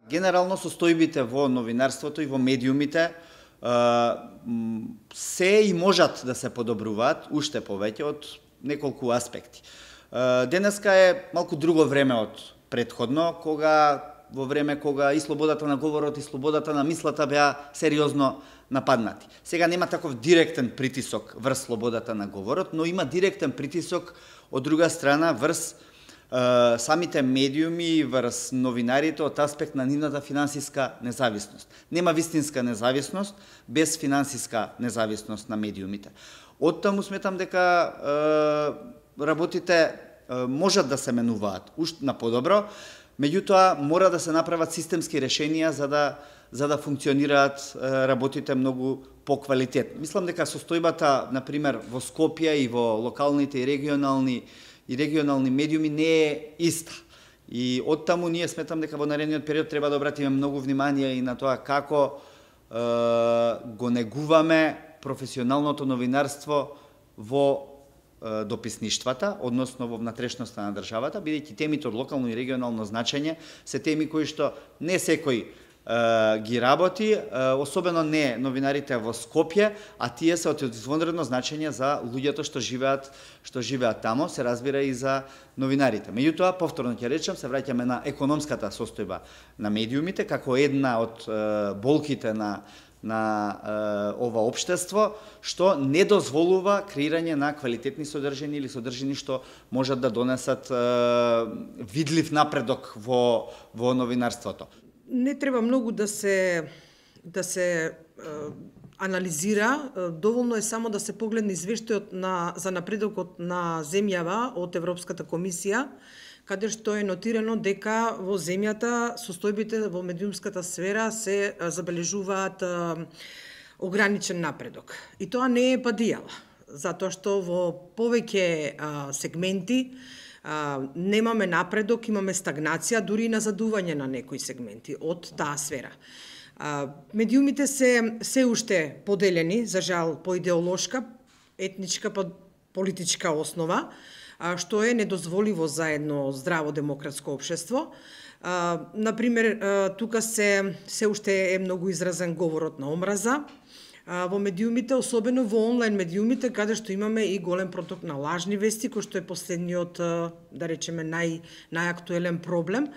Генерално состојбите во новинарството и во медиумите се и можат да се подобруваат уште повеќе од неколку аспекти. Денеска е малку друго време од претходно, во време кога и слободата на говорот и слободата на мислата беа сериозно нападнати. Сега нема таков директен притисок врз слободата на говорот, но има директен притисок од друга страна врз самите медиуми, врз новинарите од аспект на нивната финансиска независност. Нема вистинска независност без финансиска независност на медиумите. Оттаму сметам дека работите можат да се менуваат уште на подобро, меѓутоа мора да се направат системски решенија за да функционираат работите многу поквалитетно. Мислам дека состојбата, на пример, во Скопје и во локалните и регионални медиуми не е иста. И оттаму ние сметам дека во наредниот период треба да обратиме многу внимание и на тоа како го негуваме професионалното новинарство во дописништвата, односно во внатрешноста на државата, бидејќи темите од локално и регионално значење се теми кои што не секој ги работи, особено не новинарите во Скопје, а тие се од извонредно значење за луѓето што живеат тамо, се разбира и за новинарите. Меѓутоа, повторно ќе речем, се враќаме на економската состојба на медиумите како една од болките на ова општество, што не дозволува креирање на квалитетни содржини или содржини што можат да донесат видлив напредок во новинарството. Не треба многу да се анализира, доволно е само да се погледне извештајот за напредокот на земјава од Европската комисија, каде што е нотирано дека во земјата состојбите во медиумската сфера се забележуваат ограничен напредок. И тоа не е падијава, затоа што во повеќе сегменти немаме напредок, имаме стагнација, дури и назадување на некои сегменти од таа сфера. Медиумите се уште поделени, за жал, по идеолошка, етничка, политичка основа, што е недозволиво за едно здраво демократско општество. Например, тука се уште е многу изразен говорот на омраза во медиумите, особено во онлайн медиумите, каде што имаме и голем проток на лажни вести, кој што е последниот, да речеме, најактуелен проблем.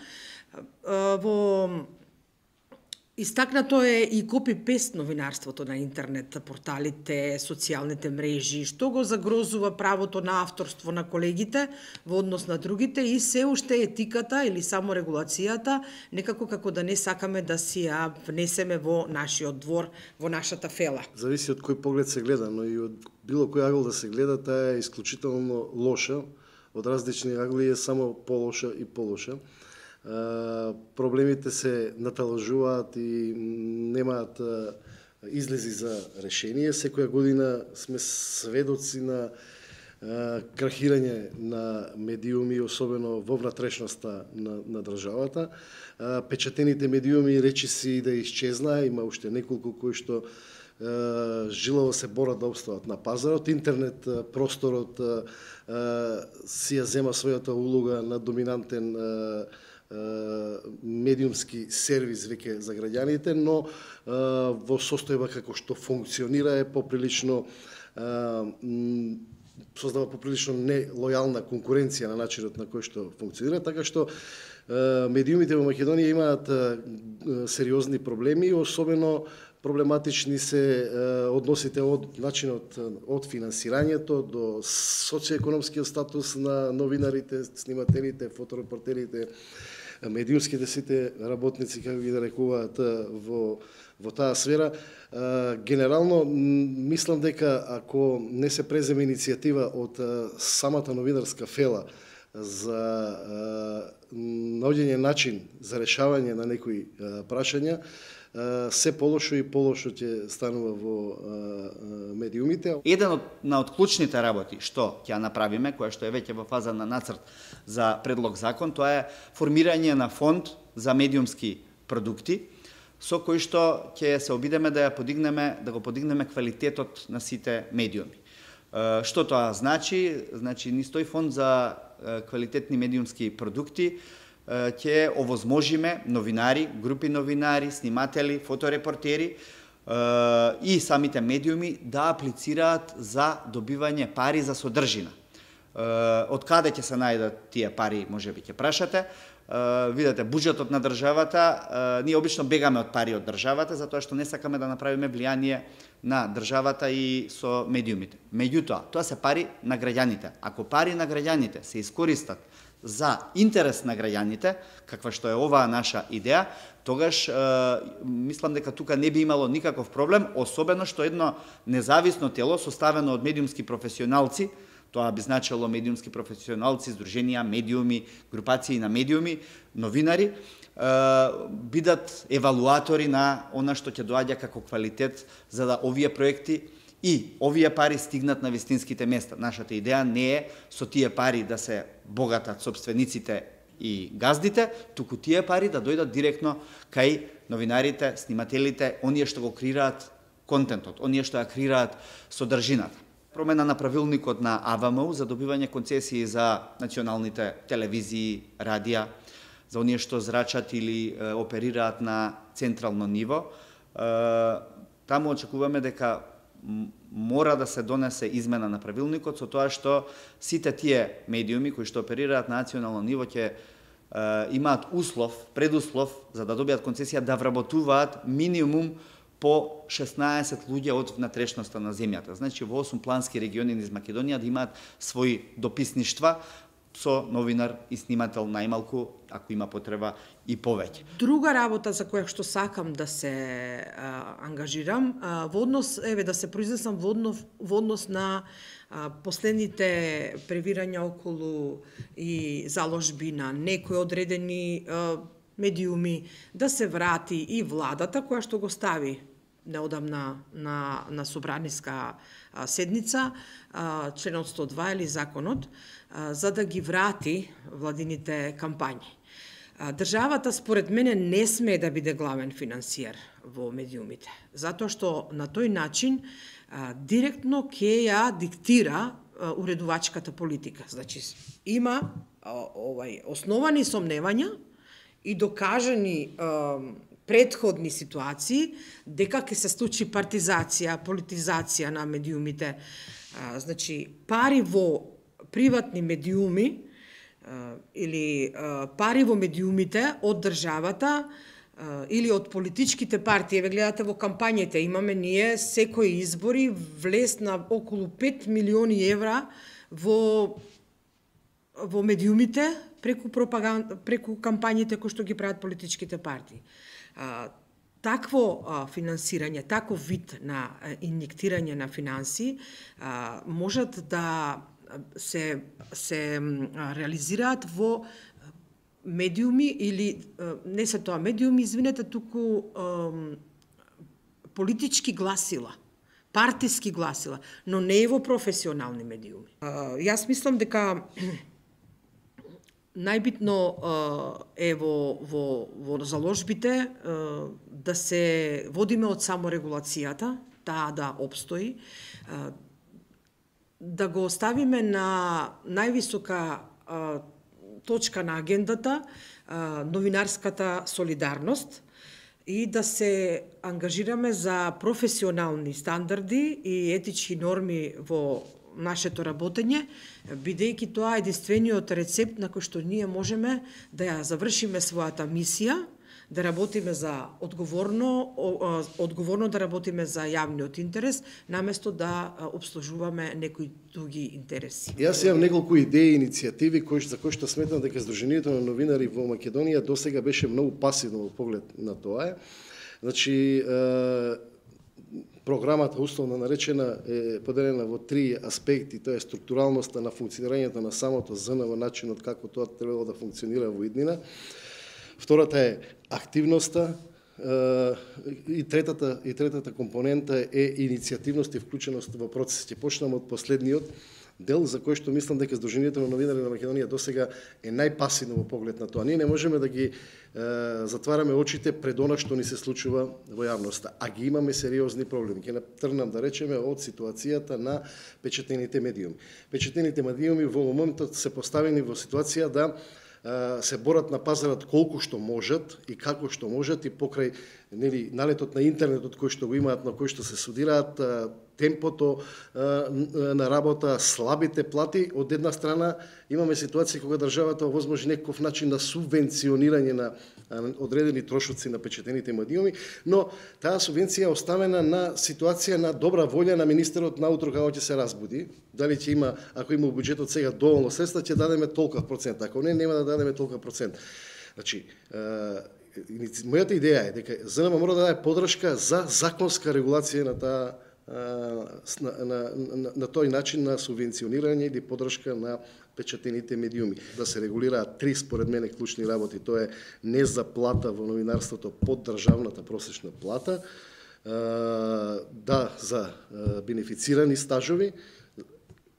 Истакнато е и копи-пест новинарството на интернет, порталите, социјалните мрежи, што го загрозува правото на авторство на колегите во однос на другите и се уште етиката или само регулацијата, некако како да не сакаме да си ја внесеме во нашиот двор, во нашата фела. Зависи од кој поглед се гледа, но и од било кој агол да се гледа, таа е исклучително лоша, од различни агли е само полоша и полоша. Проблемите се наталажуваат и немаат излези за решение. Секоја година сме сведоци на крахирање на медиуми, особено во внатрешноста на државата. Печатените медиуми речиси да исчезнаа, има уште неколку кои што жилаво се борат да обстават на пазарот. Интернет просторот си ја зема својата улога на доминантен медиумски сервис веќе за граѓаните, но во состојба како што функционира е поприлично создава поприлично нелојална конкуренција на начинот на кој што функционира, така што медиумите во Македонија имаат сериозни проблеми, особено проблематични се односите од начинот од финансирањето до социоекономскиот статус на новинарите, снимателите, фоторепортерите, медиумските сите работници, како ги нарекуваат во таа сфера. Генерално, мислам дека ако не се преземе иницијатива од самата новинарска фела за наоѓање начин за решавање на некои прашања, се полошо и полошо ќе станува во медиумите. Еден од клучните работи што ќе направиме, која што е веќе во фаза на нацрт за предлог закон, тоа е формирање на фонд за медиумски продукти, со кој што ќе се обидеме да го подигнеме квалитетот на сите медиуми. Што тоа значи? Значи, низ тој фонд за квалитетни медиумски продукти ќе овозможиме новинари, групи новинари, сниматели, фоторепортери и самите медиуми да аплицираат за добивање пари за содржина. Од каде ќе се најдат тие пари, можеби ќе прашате. Видете, буџетот на државата, ние обично бегаме од пари од државата, затоа што не сакаме да направиме влијание на државата и со медиумите. Меѓутоа, тоа се пари на граѓаните. Ако пари на граѓаните се искористат за интерес на граѓаните, каква што е оваа наша идеја, тогаш мислам дека тука не би имало никаков проблем, особено што едно независно тело составено од медиумски професионалци, тоа би значило медиумски професионалци, здруженија, медиуми, групации на медиуми, новинари, бидат евалуатори на она што ќе доаѓа како квалитет, за да овие проекти и овие пари стигнат на вистинските места. Нашата идеја не е со тие пари да се богатат собствениците и газдите, туку тие пари да дојдат директно кај новинарите, снимателите, оние што го креираат контентот, оние што ја креираат содржината. Промена на правилникот на АВМУ за добивање концесии за националните телевизии, радија, за оние што зрачат или оперираат на централно ниво. Таму очекуваме дека мора да се донесе измена на правилникот со тоа што сите тие медиуми кои што оперираат на национално ниво ќе имаат предуслов за да добијат концесија да вработуваат минимум по 16 луѓе од внатрешноста на земјата. Значи, во 8 плански региони низ Македонија да имаат своји дописништва со новинар и снимател најмалку, ако има потреба, и повеќе. Друга работа за која што сакам да се ангажирам, во однос, да се произнесам во однос на последните превирања околу и заложби на некои одредени медиуми, да се врати и владата која што го стави неодамна на собраниска седница, членот 102 или законот, за да ги врати владините кампањи. Државата, според мене, не смее да биде главен финансиер во медиумите, затоа што на тој начин директно ќе ја диктира уредувачката политика. Значи, има основани сомневања и докажани предходни ситуации дека ќе се случи партизација, политизација на медиумите. Значи, пари во приватни медиуми или пари во медиумите од државата или од политичките партии. Еве гледате во кампањите, имаме ние секои избори влез на околу 5 милиони евра во медиумите преку кампањите кои што ги прават политичките партии. Такво финансирање, таков вид на инјектирање на финанси можат да се реализираат во медиуми или не се тоа медиуми, извинете, туку политички гласила, партиски гласила, но не и во професионални медиуми. Јас мислам дека најбитно е во заложбите да се водиме од саморегулацијата, таа да обстои, да го оставиме на највисока точка на агендата новинарската солидарност и да се ангажираме за професионални стандарди и етички норми во нашето работење, бидејќи тоа е единствениот рецепт на кој што ние можеме да ја завршиме својата мисија, да работиме за одговорно да работиме за јавниот интерес, наместо да обслужуваме некои други интереси. Јас имам неколку идеи и иницијативи за кои што сметам дека Сдруженијето на новинари во Македонија досега беше многу пасивно во поглед на тоа. Значи, програмата, условно наречена, е поделена во три аспекти. Тоа е структуралноста на функционирањето на самото ЗН во начинот како тоа требало да функционира во иднина. Втората е активноста и третата компонента е иницијативност и вклученост во процесите. Почнам од последниот дел за кој што мислам дека Сдруженијето на новинари на Македонија досега е најпасивно во поглед на тоа. Ние не можеме да ги затвараме очите пред она што ни се случува во јавноста, а ги имаме сериозни проблеми. Ќе тргнам да речеме од ситуацијата на печатените медиуми. Печатените медиуми во моментот се поставени во ситуација да се борат на пазарот колку што можат и како што можат и покрај налетот на интернетот кој што го имаат, на кој што се судираат, темпото на работа, слабите плати. Од една страна имаме ситуација кога државата овозможи некаков начин на субвенционирање на одредени трошоци на печатените медиуми, но таа субвенција е оставена на ситуација на добра волја на министерот наутро како ќе се разбуди. Дали ќе има, ако има во буџетот сега доволно средства, ќе дадеме толков процент, ако не, нема да дадеме толков процент. Значи, мојата идеја е дека ЗНМ мора да даде подршка за законска регулација на таа на тој начин на субвенционирање или подршка на печатените медиуми. Да се регулираат три, според мене, клучни работи. Тоа е не заплата во новинарството под државната просечна плата, да за бенефицирани стажови,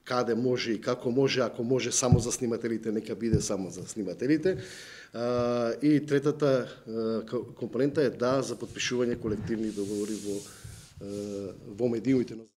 каде може и како може, ако може само за снимателите, нека биде само за снимателите. И третата компонента е да за потпишување колективни договори во медиумите.